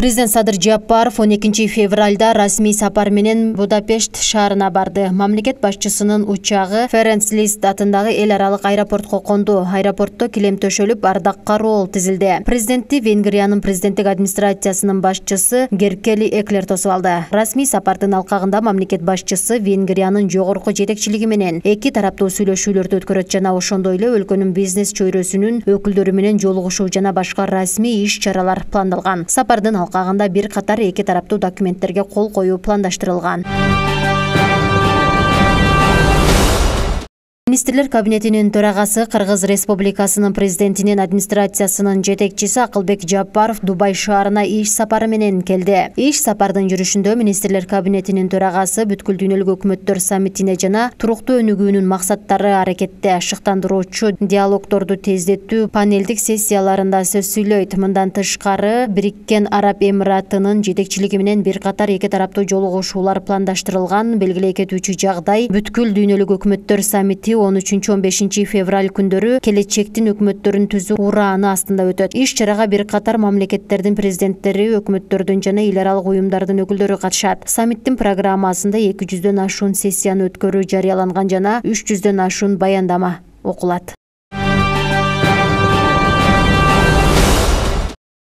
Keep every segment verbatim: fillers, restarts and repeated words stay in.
Президент Садыр Жапаров он экинчи февралда расмий сапар менен Будапешт шаарына барды. Мамлекет башчысынын учагы Ференц Лист атындагы эл аралык аэропортко конду. Аэропортто килем төшөлүп, ардак кароол тизилди. Президентти Венгриянын президенттик администрациясынын башчысы Геркели Эклер тосуп алды. Расмий сапардын алкагында мамлекет башчысы Венгриянын жогорку жетекчилиги менен эки тараптуу сүйлөшүүлөрдү өткөрөт жана ошондой эле өлкөнүн бизнес чөйрөсүнүн өкүлдөрү менен жолугушуу жана башка расмий иш-чаралар пландалган. Сапардын алкагында бир катар эки тараптуу документтерге кол коюу пландаштырылган. Министрлер кабинетинин төрагасы Кыргыз Республикасынын президентинин администрациясынын жетекчиси Акылбек Жапаров Дубай шаарына иш сапары менен келди. Иш сапардын жүрүшүндө Министрлер кабинетинин төрагасы бүткүл дүйнөлүк өкмөттөр саммитине жана туруктуу өнүгүүнүн максаттары аракетте шыктандыруучу диалогдорду тездетүү панелдик сессияларында сөз сүйлөйт. Мындан тышкары Бириккен Араб Эмиратынын жетекчилиги менен бир катар эки тараптуу жолугушуулар пландаштырылган. Белгилей кетүүчү жагдай бүткүл дүйнөлүк өкмөттөр саммити он үчүнчү он бешинчи февраль күндөрү келечектин өкмөттөрүн түзүү урааны астында өтөт. Иш-чарага бир катар мамлекеттердин президенттери, өкмөттөрдүн жана эл аралык уюмдардын өкүлдөрү катышат. Саммиттин программасында эки жүздөн ашуун сессияны өткөрүү жарыяланган жана үч жүздөн ашуун баяндама окулат.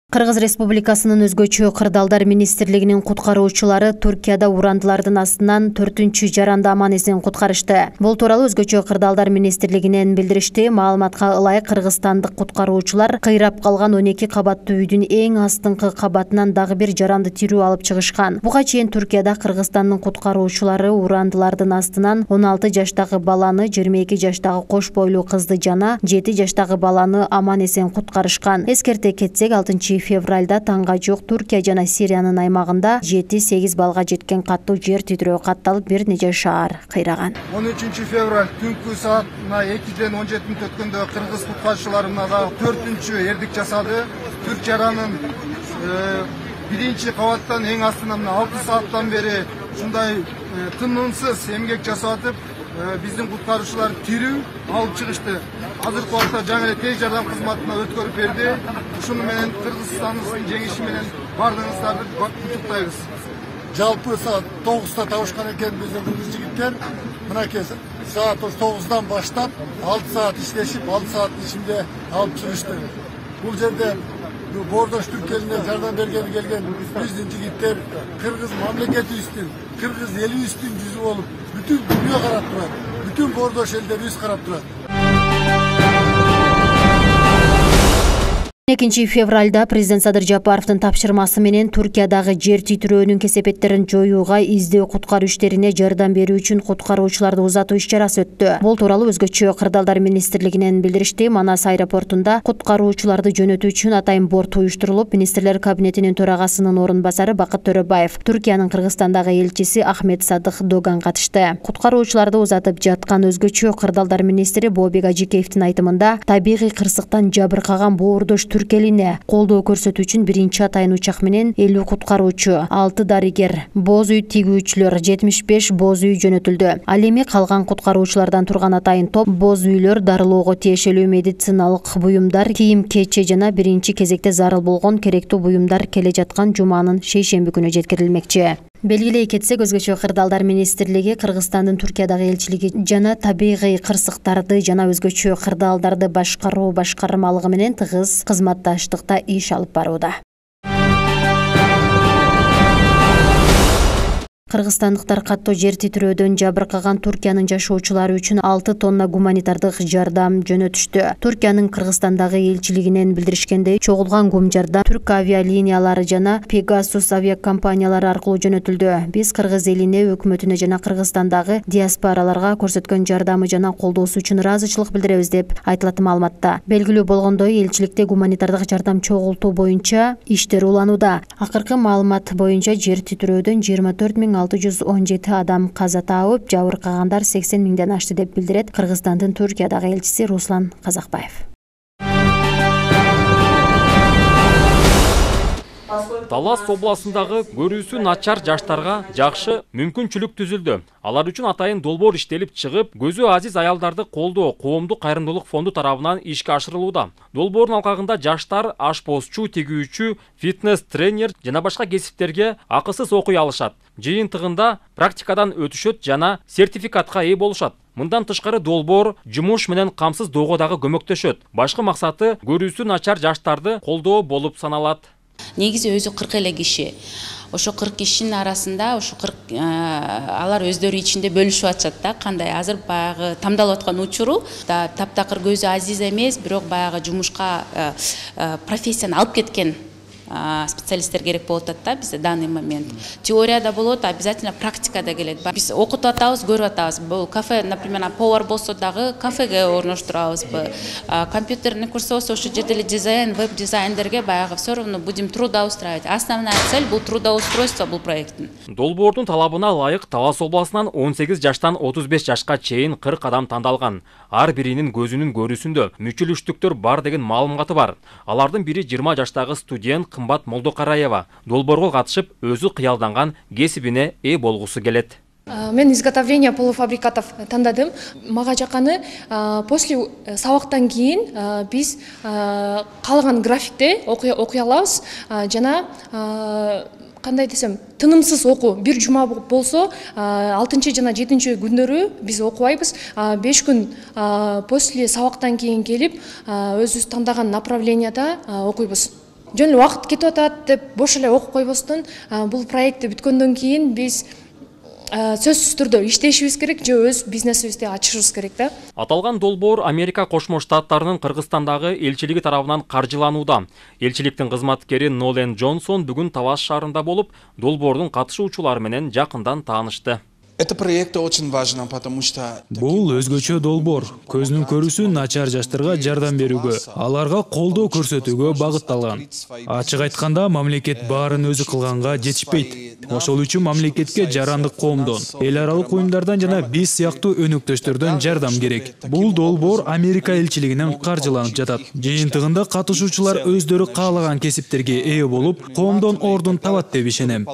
Кыргыз Республикасынын өзгөчө кырдаалдар министрлигинин куткаруучулары Туркияда урандылардын астынан төртүнчү жаранды аман эсен куткарышты. Бул тууралуу өзгөчө кырдаалдар министрлигинен билдиришти. Маалыматка ылайык кыргызстандык куткаруучулар кыйрап калган он эки кабаттуу үйдүн эң астыңкы кабатынан дагы бир жаранды тирүү алып чыгышкан. Буга чейин Туркияда Кыргызстандын куткаруучулары урандылардын астынан он алты жаштагы баланы, жыйырма эки жаштагы кош бойлуу кызды жана жети жаштагы баланы аман эсен куткарышкан. Эскерте кетсек, алтынчы февралда таңга жок Туркия жана Сириянын аймагында жети сегиз балга жеткен каттуу жер титирөө катталып, бир нече шаар кыйраган. он үчүнчү февраль түнкү саатына экиден он жети мүнөт өткөндө кыргыз куткаруучуларына да төртүнчү эрдик жасады. Төрт жаранын биринчи кабаттан эң астынан алты сааттан бери ушундай тынымсыз эмгек жасап атып, биздин куткаруучулар тирүү алып чыгышты. Азыркы убакта жаңы эле тез жардам кызматына өткөрүп берди. Ушуну менен Кыргызстандын жеңиши менен бардыгыңыздарды куттуктайбыз. Жалпы саат тогузда табышкан экен биздин кыргыз жигиттер. Мынакей саат тогуздан баштап алты саат иштешип, алты сааттын ичинде алып чыгышты. Бул жерде Бордош Түрк элине жардам бергени келген биздин жигиттер кыргыз мамлекетибиздин, кыргыз элибиздин жүзү болуп, бүтүн дүйнө карап турат. Бүтүн Бордош элдери биз карап турат. экинчи февралда президент Садыр Жапаровдун тапшырмасы менен Туркиядагы жер титирөөнүн кесепеттерин жоюуга издөө куткаруу иштерине жардам берүү үчүн куткаруучуларды узатуу иш-чарасы өттү. Бул тууралуу өзгөчө кырдаалдар министрлигинен билдиришти. Манас аэропортунда куткаруучуларды жөнөтүү үчүн атайын борт уюштурулуп, министрлер кабинетинин төрагасынын орун басары Бакыт Төрөбаев, Туркиянын Кыргызстандагы элчиси Ахмет Садык Доган катышты. Куткаруучуларды узатып жаткан өзгөчө кырдаалдар министри Бообек Ажикеевдин айтымында, табигый кырсыктан жабыркаган Боордош Түрк элине колдоо көрсөтүү үчүн биринчи атайын учак менен элүү куткаруучу, алты дарыгер, боз үй тигүүчүлөр, жетимиш беш боз үй жөнөтүлдү. Ал эми калган куткаруучулардан турган атайын топ боз үйлөр, дарылоого тиешелүү медициналык буюмдар, кийим-кече жана биринчи кезекте зарыл болгон керектүү буюмдар келе жаткан жуманын шейшемби күнү жеткирилмекчи. Белгилей кетсек, өзгөчө кырдаалдар министрлиги Кыргызстандын Туркиядагы элчилиги жана табигый кырсыктарды жана өзгөчө кырдаалдарды башкаруу башкармалыгы менен тыгыз кызматташтыкта иш алып барууда. Кыргызстандыктар каттуу жер титирөөдөн жабыркаган Туркиянын жашоочулары үчүн алты тонна гуманитардык жардам жөнөтүштү. Туркиянын Кыргызстандагы элчилигинен билдиришкендей, чогулган гум жардам Түрк авиалиниялары жана Pegasus авиакомпаниялары аркылуу жөнөтүлдү. Биз кыргыз элине, өкмөтүнө жана Кыргызстандагы диаспораларга көрсөткөн жардамы жана колдоосу үчүн ыраазычылык билдиребиз деп айтылат маалыматта. Белгилүү болгондой, элчиликте гуманитардык жардам чогултуу боюнча иштер уланууда. Акыркы маалымат боюнча жер титирөөдөн жыйырма төрт миң алты жүз он жети адам каза таап, жабыркагандар сексен миңден ашты деп билдирет Кыргызстандын Туркиядагы элчиси Руслан Казакбаев. Талас областындагы көрүүсү начар жаштарга жакшы мүмкүнчүлүк түзүлдү. Алар үчүн атайын долбоор иштелип чыгып, көзү азиз аялдарды колдоо коомдук кайрымдуулук фонду тарабынан ишке ашырылууда. Долбоордун алкагында жаштар ашпозчу, тигүүчү, фитнес тренер жана башка кесиптерге акысыз окуй алышат. Жыйынтыгында практикадан өтүшөт жана сертификатка ээ болушат. Мындан тышкары долбоор жумуш менен камсыз доого дагы көмөктөшөт. Башкы максаты көрүүсү начар жаштарды колдоо болуп саналат. Негизи өзү кырк эле киши. Ошо кырк кишинин арасында ошо кырк алар өздөрү ичинде бөлүшүп атышат да, кандай азыр баягы тамдалып аткан учуру да таптакыр көзү азиз эмес, бирок баягы жумушка профессияны алып кеткен специалисттер керек болуп атат да бизде данный момент. Теорияда болот, обязательно практикада келет. Биз окутуп атабыз, көрүп атабыз. Бул кафе, например, повар болсо дагы кафеге орноштурабызбы. Компьютерный курс болсо ошо жерде эле дизайн, веб-дизайнерге баягы всё равно будем трудоустраивать. Основная цель бул трудоустройство бул проекттин. Долбоордун талабына ылайык Талас областынан он сегиз жаштан отуз беш жашка чейин кырк адам тандалган. Ар биринин көзүнүн көрүүсүндө мүчүлүштүктөр бар деген маалыматы бар. Алардын бири жыйырма жаштагы студент Кымбат Молдокараева. Долбоорго катышып, өзү кыялданган кесибине ээ болгусу келет. Мен изготовление полуфабрикатов тандадым. Мага жакканы после сабактан кийин биз калган графикте окуй алабыз жана кандай десем, тынымсыз окуу. Бир жума болсо, алтынчы жана жетинчи күндөрү биз окубайбыз. беш күн после сабактан кийин келип, өзүбүз тандаган направленияда окуйбуз. Жөн эле убакыт кетип атат деп бош эле окуп койбостон, бул проектти бүткөндөн кийин биз сөзсүз түрдө иштешибиз керек же өз бизнесибизди ачышыбыз керек да. Аталган долбоор Америка Кошмо Штаттарынын Кыргызстандагы элчилиги тарабынан каржыланууда. Элчиликтин кызматкери Нолен Джонсон бүгүн Талас шаарында болуп, долбоордун катышуучулары менен жакындан таанышты. Это проект очень важно, потому что бул өзгөчө долбоор көзүнүн көрүүсү начар жаштарга жардам берүүгө, аларга колдоо көрсөтүүгө багытталган. Ачык айтканда, мамлекет баарын өзү кылганга жетишпейт. Ошол үчүн мамлекетке жарандык коомдон, эл аралык уюмдардан жана биз сыяктуу өнөктөштөрдөн жардам керек. Бул долбоор Америка элчилигинен каржыланып жатат. Жыйынтыгында катышуучулар өздөрү каалаган кесиптерге ээ болуп, коомдон ордун табат деп ишенем.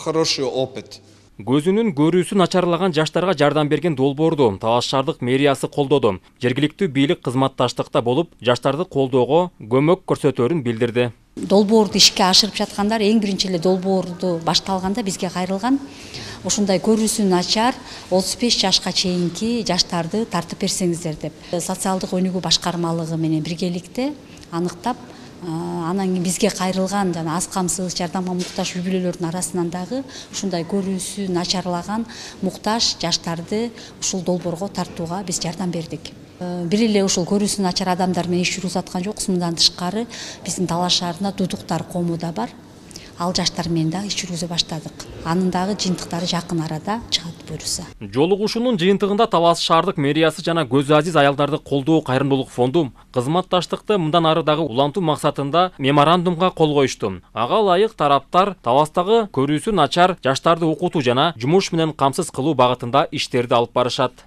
Хороший опыт. Көзүнүн көрүүсү начарлаган жаштарга жардам берген долбоорду Талас шаардык мэриясы колдоду. Жергиликтүү бийлик кызматташтыкта болуп, жаштарды колдоого көмөк көрсөтөөрүн билдирди. Долбоорду ишке ашырып жаткандар эң биринчи эле долбоорду башталганда бизге кайрылган. Ошондой көрүүсү начар отуз беш жашка чейинки жаштарды тартып берсеңиздер деп. Социалдык өнүгүү башкармалыгы менен биргеликте аныктап, анан кийин бизге кайрылган жана аз камсыз жардамга муктаж үй бүлөлөрдүн арасынан дагы ушундай көрүүсү начарлаган муктаж жаштарды ушул долбоорго тартууга биз жардам бердик. Бир эле ушул көрүүсү начар адамдар менен иш жүргүзүп жокпуз, мындан тышкары биздин Талас шаарында Дудуктар коому да бар. Ал жаштар менен да иш жүргүзө баштадык. Анын дагы жыйынтыктары жакын арада чыгат буюрса. Жолугушуунун жыйынтыгында Талас шаардык мэриясы жана көзү азиз аялдарды колдоо кайрымдуулук фонду кызматташтыкты мындан ары дагы улантуу максатында меморандумга кол коюшту. Ага ылайык тараптар Таластагы көрүүсү начар жаштарды окутуу жана жумуш менен камсыз кылуу багытында иштерди алып барышат.